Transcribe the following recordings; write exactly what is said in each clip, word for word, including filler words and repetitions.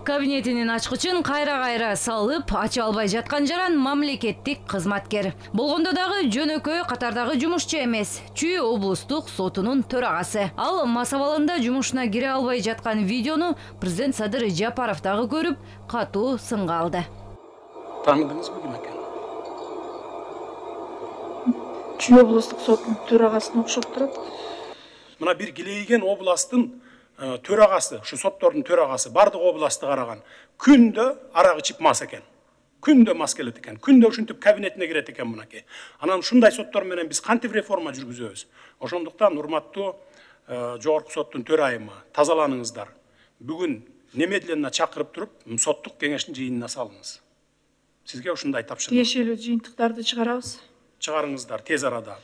Кабинетинин ачкычын кайра-кайра салып, ача албай жаткан жаран мамлекеттик кызматкер. Болгондо дагы жөнөкөй катардагы жумушчу эмес, Чүй облустук сотунун төрагасы. Ал Масабалында жумушуна кире албай жаткан видеону президент Садыр Жапаров дагы көрүп, катуу сынга алды. Таныдыңызбы ким экен? Чүй облустук сотунун төрагасына окшоп турат. Мына бир килейген областтын төрагасы, ушу соттордун төрагасы бардык областты караган. Күндө арак ичип мас экен. Күндө мас келет экен. Күндө ушинтип кабинетине кирет экен мынакей. Анан ушундай соттор менен биз кантип реформа жүргүзөбүз? Ошондуктан урматтуу жогорку соттун төрайымы, тазаланыңыздар. Бүгүн немедленно чакырып туруп, соттук кеңештин жыйынына салыңыз. Сизге ушундай тапшырма. Тиешелүү жыйынтыктарды чыгарабыз. Чыгарыңыздар тез арада.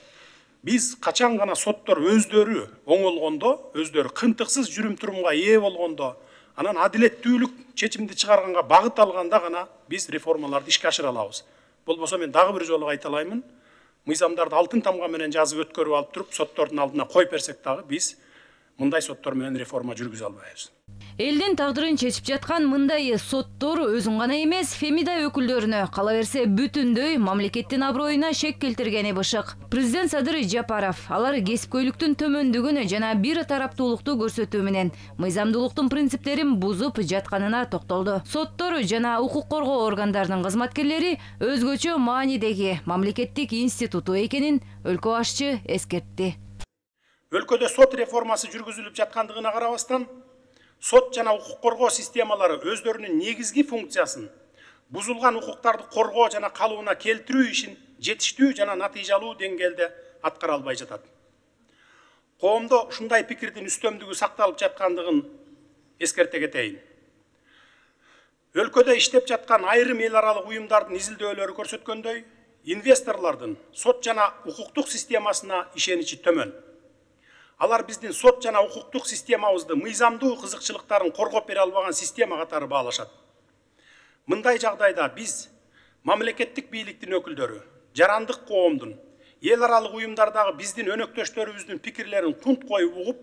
Биз качан гана соттор өздөрү оңолгондо, өздөрү кынтыксыз жүрүм турумга ээ болгондо, анан адилеттүүлүк чечимди чыгарганга багыт алганда гана биз реформаларды ишке ашыра алабыз. Болбосо мен дагы бир жолу айталаймын, мыйзамдарды алтын тамга менен жазып өткөрүп алып туруп, соттордун алдына коюп берсек дагы биз мындай соттор менен реформа жүргүзө албайбыз. Элдин тагдырын чечип жаткан мындай соттор өзүн гана эмес, Фемида өкүлдөрүнө, кала берсе бүтүндөй мамлекеттин аброюна шек келтиргени бышык. Президент Садыр Жапаров алар кесипкөйлүктүн төмөндүгүнө жана бир тараптуулукту көрсөтүү менен мыйзамдуулуктун принциптерин бузуп жатканына токтолду. Соттор жана укук коргоо органдарынын кызматкерлери өзгөчө маанидеги мамлекеттик институту экенин өлкө башчы эскертти. Өлкөдө сот реформасы жүргүзүлүп жаткандыгына карабастан, сот жана укук коргоо системалары өздөрүнүн негизги функциясын, бузулган укуктарды коргоо жана калыбына келтирүү ишин жетиштүү жана натыйжалуу деңгээлде аткара албай жатат. Коомдо ушундай пикирдин үстөмдүгү сакталып жаткандыгын эскерте кетейин. Өлкөдө иштеп жаткан айрым эл аралык уюмдардын изилдөөлөрү көрсөткөндөй, инвесторлордун сот жана укуктук системасына ишеничи төмөн. Алар биздин сот жана укуктук системабызды мыйзамдуу кызыкчылыктарын коргоп бере албаган система катары баалашат. Мындай жагдайда биз мамлекеттик бийликтин өкүлдөрү, жарандык коомдун, эл аралык уюмдардагы биздин өнөктөштөрүбүздүн пикирлерин кунт коюп угуп,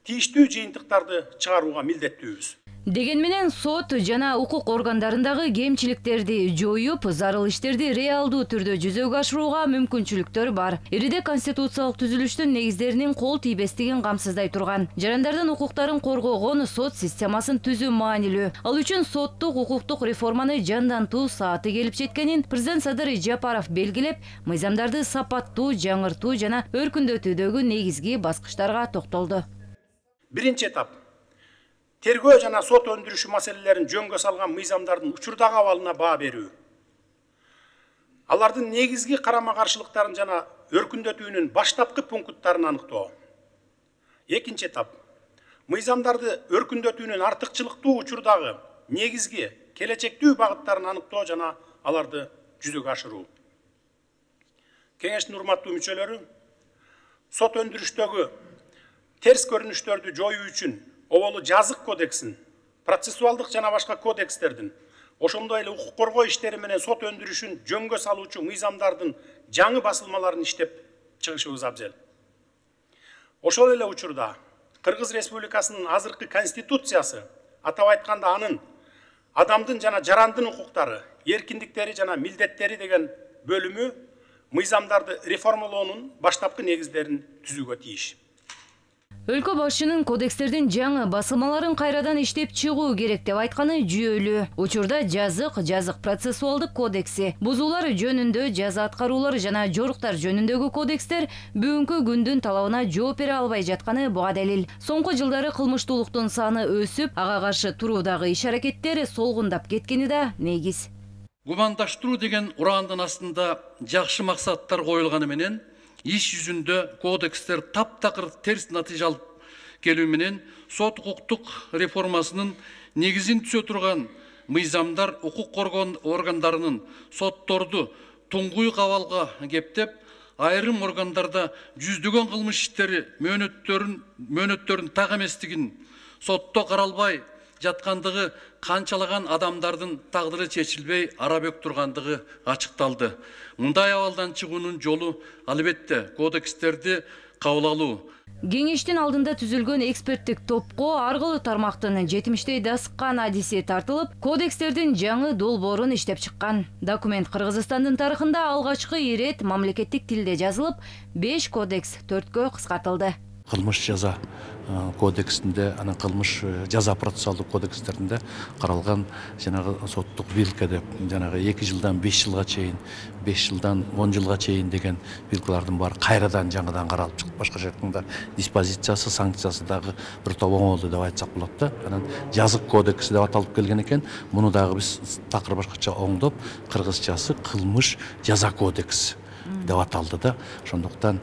тийиштүү жыйынтыктарды чыгарууга милдеттүүбүз. Деген менен сот жана укук органдарындагы кемчиликтерди жоюп, зарыл иштерди реалдуу түрдө жүзөгө ашырууга мүмкүнчүлүктөр бар. Ириде конституциялык түзүлүштүн негиздеринин кол тийбестигин камсыздай турган, жарандардын укуктарын коргогон сот системасын түзүү маанилүү. Ал үчүн соттук укуктук реформаны жандантуу сааты келип жеткенин президент Садыр Жапаров белгилеп, мыйзамдарды сапаттуу жаңыртуу жана өркүндөтүүдөгү негизги баскычтарга токтолду. Биринчи этап тергөө жана сот өндүрүшү маселелерин жөнгө салган мыйзамдардын учурдагы абалына баа берүү. Алардын негизги карама-каршылыктарын жана өркүндөтүүнүн баштапкы пункттарын аныктоо. Экинчи этап мыйзамдарды өркүндөтүүнүн артыкчылыктуу учурдагы негизги келечектүү багыттарын аныктоо жана аларды жүзөгө ашыруу. Кеңештин урматтуу мүчөлөрү, сот өндүрүштөгү терс көрүнүштөрдү жоюу үчүн оболу жазык кодексин, процессуалдык жана башка кодекстердин, ошондой эле укук коргоо иштери менен сот өндүрүшүн жөнгө салуучу мыйзамдардын жаңы басылмаларын иштеп чыгышыбыз абзел. Ошол эле учурда Кыргыз Республикасынын азыркы конституциясы, атап айтканда анын адамдын жана жарандын укуктары, эркиндиктери жана милдеттери деген бөлүмү мыйзамдарды реформалоонун баштапкы негиздерин түзүүгө тийиш. Өлкө башчынын кодекстердин жаңы басылмаларын кайрадан иштеп чыгуу керек деп айтканы жүйөлүү. Учурда жазык, жазык процессуалдык кодекси, бузуулар жөнүндө жаза аткаруулар жана жоруктар жөнүндөгү кодекстер бүгүнкү күндүн талабына жооп бере албай жатканы буга далил. Соңку жылдары кылмыштуулуктун саны өсүп, ага каршы туруудагы иш-аракеттер солгундап кеткени да негиз. Гумандаштыруу деген ураандын астында жакшы максаттар коюлганы менен иш жүзүндө кодекстер таптакыр терс натыйжа алып келүү менен сот укуктук реформасынын негизин түзө турган мыйзамдар укук коргоо органдарынын сотторду туңгуюк абалга кептеп, айрым органдарда жүздөгөн кылмыш иштери мөөнөттөрүн мөөнөттөрүн так эместигин, сотто каралбай жаткандыгы, канчалаган адамдардын тагдыры чечилбей арабек тургандыгы ачыкталды. Мындай абалдан чыгуунун жолу албетте кодекстерди кабыл алуу. Кеңештин алдында түзүлгөн эксперттик топко аргылуу тармактын жетимиштей дасыккан адиси тартылып, кодекстердин жаңы долбоорун иштеп чыккан. Документ Кыргызстандын тарыхында алгачкы ирет мамлекеттик тилде жазылып, беш кодекс төрткө кыскартылды. Кылмыш жаза кодексинде, анан кылмыш жаза процессуалдык кодекстеринде каралган жанагы соттук вилка деп, жанагы эки жылдан беш жылга чейин, беш жылдан он жылга чейин деген вилкалардын баары кайрадан жаңыдан каралып чыгып, башкача айтканда диспозициясы, санкциясы дагы бир топ оңолду деп айтсак болот да. Анан жазык кодекси деп аталып келген экен. Муну дагы биз такыр башкача оңдоп, кыргызчасы кылмыш жаза кодекси деп аталды да. Ошондуктан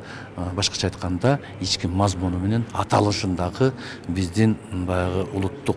башкача айтканда ички мазмуну менен аталышындагы биздин баягы улуттук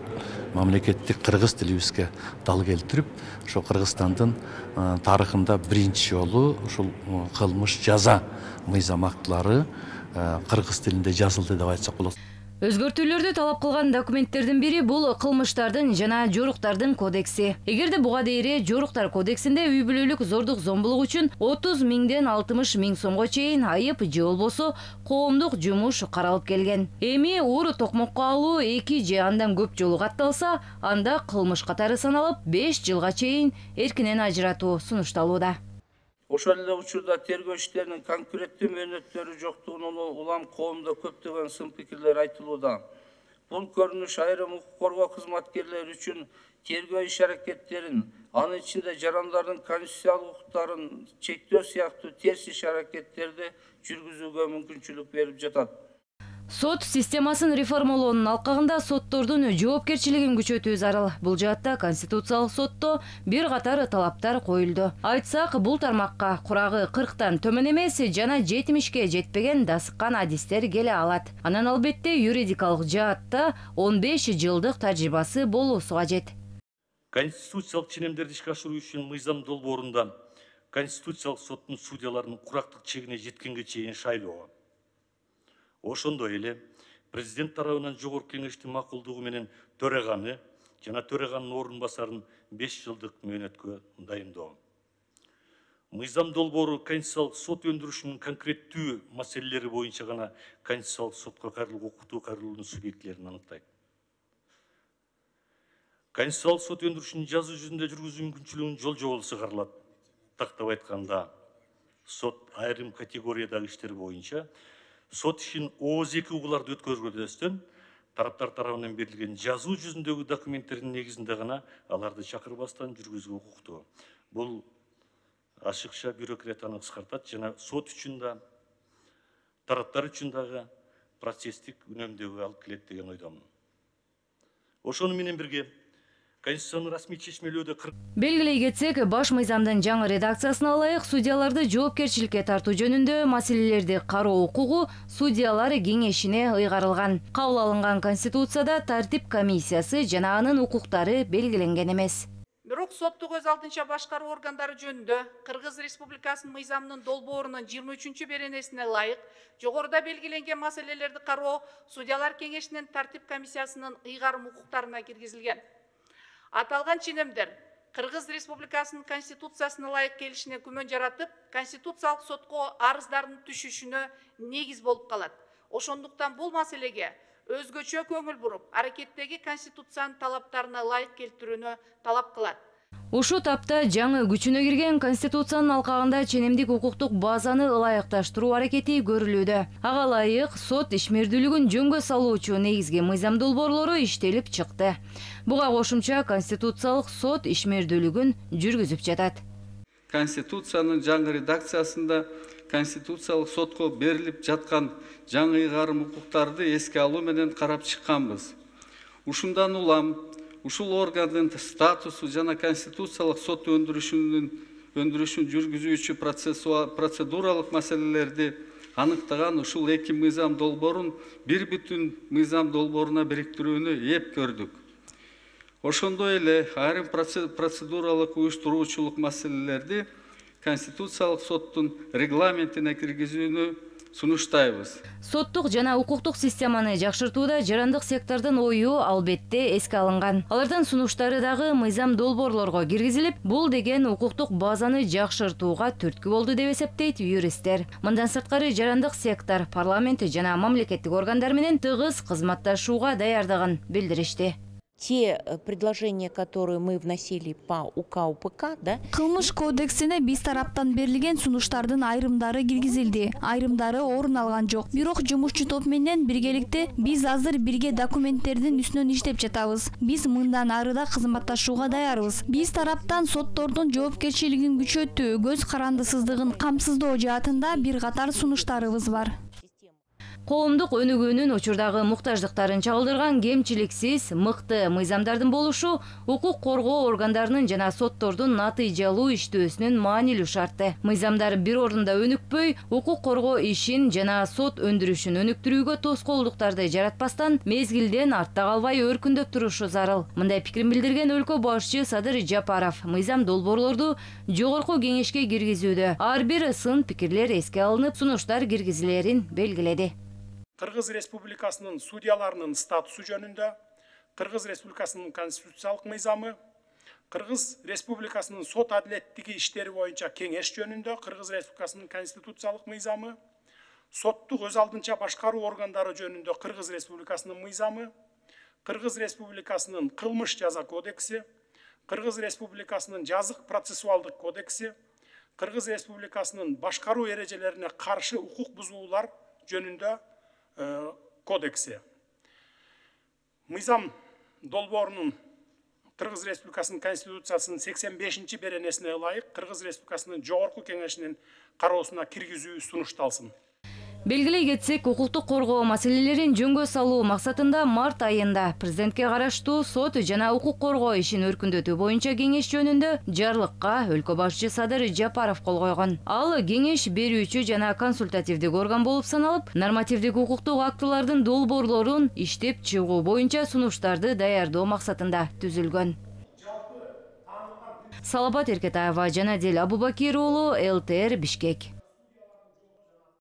мамлекеттик кыргыз тилибизге дал келтирип, ошо Кыргызстандын тарыхында биринчи жолу ушул кылмыш жаза мыйзам актылары кыргыз тилинде жазылды деп айтсак болот. Өзгөртүүлөрдү талап кылган документтердин бири бул кылмыштардын жана жоруктардын кодекси. Эгерде буга дейре жоруктар кодексинде үй бүлөлүк зордук зомбулук үчүн отуз миңден алтымыш миң сомго чейин айып же болбосо коомдук жумуш каралып келген. Эми уур токмокко алуу эки же андан көп жолу катталса, анда кылмыш катары саналып беш жылга чейин эркинен ажыратуу сунушталууда. Ошол эле учурда тергөө иштеринин конкреттүү мөөнөттөрү жоктугунан улам коомдо көптөгөн сын пикирлер айтылууда. Бул көрүнүш айрым укук коргоо кызматкерлери үчүн тергөө иш аракеттерин, анын ичинде жарандардын конституциялык укуктарын чектөө сыяктуу терс иш аракеттерди жүргүзүүгө мүмкүнчүлүк берип жатат. Сот системасын реформалоонун алкагында соттордун жоопкерчилигин күчөтүү зарыл. Бул жаатта Конституциялык сотто бир катар талаптар коюлду. Айтсак, бул тармакка курагы кырктан төмөн эмес жана жетимишке жетпеген дасыккан адистер келе алат. Анан албетте юридикалык жаатта он беш жылдык тажрыйбасы болуусу кажет. Конституциялык ченемдерди ишке ашыруу үчүн мыйзам долбоорунда Конституциялык соттун судьяларынын курактык чегине жеткенге чейин шайлоо. Ошондой эле президент тарабынан жогорку кеңештин макулдугу менен төраганы жана төраганын орун басарын беш жылдык мөөнөткө дайындоо. Мыйзам долбоору Конституциялык сот өндүрүшүнүн конкреттүү маселелери боюнча гана Конституциялык сотко кайрылуу укуктуу кайрылуунун субъектилерин аныктайт. Конституциялык сот өндүрүшүнүн жазуу жүзүндө жүргүзүү мүмкүнчүлүгүнүн жол жоболусу каралат. Тактап айтканда, сот айрым категориядагы иштер боюнча сот ишин ооз эки угуларды өткөргөндөн тараптар тарабынан берилген жазуу жүзүндөгү документтердин негизинде гана аларды чакырбастан жүргүзүүгө укуктуу. Бул ашыкча бюрократияны кыскартат жана сот үчүн да, тараптар үчүн дагы процесстик үнөмдөгү алып келет деген ойдомун. Ошону менен бирге Конституциянын расмий чечмелөөдө белгилей кетсек, баш мыйзамдын жаңы редакциясына ылайык судьяларды жоопкерчиликке тартуу жөнүндө маселелерди кароо укугу судьялар кеңешине ыйгарылган. Кабыл алынган Конституцияда тартип комиссиясы жана анын укуктары белгиленген эмес. Бирок соттук өз алдынча башкаруу органдары жөнүндө Кыргыз Республикасынын мыйзамынын долбоорунун жыйырма үчүнчү беренесине ылайык жогоруда белгиленген маселелерди кароо судьялар кеңешинин тартип комиссиясынын ыйгарым укуктарына киргизилген. Аталган ченемдер Кыргыз Республикасынын Конституциясына ылайык келишине күмөн жаратып, Конституциялык сотко арыздардын түшүшүнө негиз болуп калат. Ошондуктан бул маселеге өзгөчө көңүл буруп, аракеттеги Конституциянын талаптарына ылайык келтирүүнү талап кылат. Ушул тапта жаңы күчүнө кирген Конституциянын алкагында ченемдик укуктук базаны ылайыкташтыруу аракети көрүлүүдө. Ага ылайык сот ишмердүүлүгүн жөнгө салуучу негизги мыйзам долбоорлору иштелип чыкты. Буга кошумча Конституциялык сот ишмердүүлүгүн жүргүзүп жатат. Конституциянын жаңы редакциясында Конституциялык сотко берилип жаткан жаңы ыйгарым укуктарды эске алуу менен карап чыкканбыз. Ушундан улам ушул органдын статусу жана Конституциялык сот өндүрүшүнүн өндүрүшүн жүргүзүүчү процедуралык маселелерди аныктаган ушул эки мыйзам долбоорун бир бүтүн мыйзам долбооруна бириктирүүнү эп көрдүк. Ошондой эле айрым процедуралык уюштуруучулук маселелерди Конституциялык соттун регламентине киргизүүнү сунуштайбыз. Соттук жана укуктук системаны жакшыртууда жарандык сектордун ою албетте эске алынган. Алардын сунуштары дагы мыйзам долбоорлорго киргизилип, бул деген укуктук базаны жакшыртууга түрткү болду деп эсептейт юристтер. Мындан сырткары жарандык сектор парламент жана мамлекеттик органдар менен тыгыз кызматташууга даярдыгын билдиришти. Те предложения, которые мы вносили по УК УПК, да? Кылмыш кодексине биз тараптан берилген сунуштардын айрымдары киргизилди, айрымдары орун алган жок. Бирок жумушчу топ менен биргеликте биз азыр бирге документтердин үстүнөн иштеп жатабыз. Биз мындан ары да кызматташууга даярбыз. Биз тараптан соттордун жоопкерчилигин күчөтүү, көз карандысыздыгын камсыздоо жаатында бир катар сунуштарыбыз бар. Коомдук өнүгүүнүн учурдагы муктаждыктарын чагылдырган кемчиликсиз, мыкты мыйзамдардын болушу укук коргоо органдарынын жана соттордун натыйжалуу иштөөсүнүн маанилүү шарты. Мыйзамдар бир орунда өнүкпөй, укук коргоо ишин жана сот өндүрүшүн өнүктүрүүгө тоскоолдуктарды жаратпастан, мезгилден артта калбай өркүндөп турушу зарыл. Мындай пикирин билдирген өлкө башчы Садыр Жапаров мыйзам долбоорлорду жогорку кеңешке киргизүүдө ар бир сын пикирлер эске алынып, сунуштар киргизилерин белгиледи. Кыргыз Республикасынын судьяларынын статусу жөнүндө, Кыргыз Республикасынын конституциялык мыйзамы, Кыргыз Республикасынын сот адилеттиги иштери боюнча кеңеш жөнүндө, Кыргыз Республикасынын конституциялык мыйзамы, соттук өз алдынча башкаруу органдары жөнүндө Кыргыз Республикасынын мыйзамы, Кыргыз Республикасынын кылмыш жаза кодекси, Кыргыз Республикасынын жазык процессуалдык кодекси, Кыргыз Республикасынын башкаруу эрежелерине каршы укук бузуулар жөнүндө кодекси. Мыйзам долбоорунун Кыргыз Республикасынын Конституциясынын сексен бешинчи беренесине ылайык Кыргыз Республикасынын жогорку кеңешинин кароосуна киргизүү сунушталсын. Белгилей кетсек, укуктук коргоо маселелерин жөнгө салуу максатында март айында президентке караштуу сот жана укук коргоо ишин өркүндөтүү боюнча кеңеш жөнүндө жарлыкка өлкө башчы Садыр Жапаров кол койгон. Ал кеңеш берүүчү жана консультативдик орган болуп саналып, нормативдик укуктук актылардын долбоорлорун иштеп чыгуу боюнча сунуштарды даярдоо максатында түзүлгөн. Салапат Эркетаева, Жанадил Абубакир уулу, эл тэ эр Бишкек.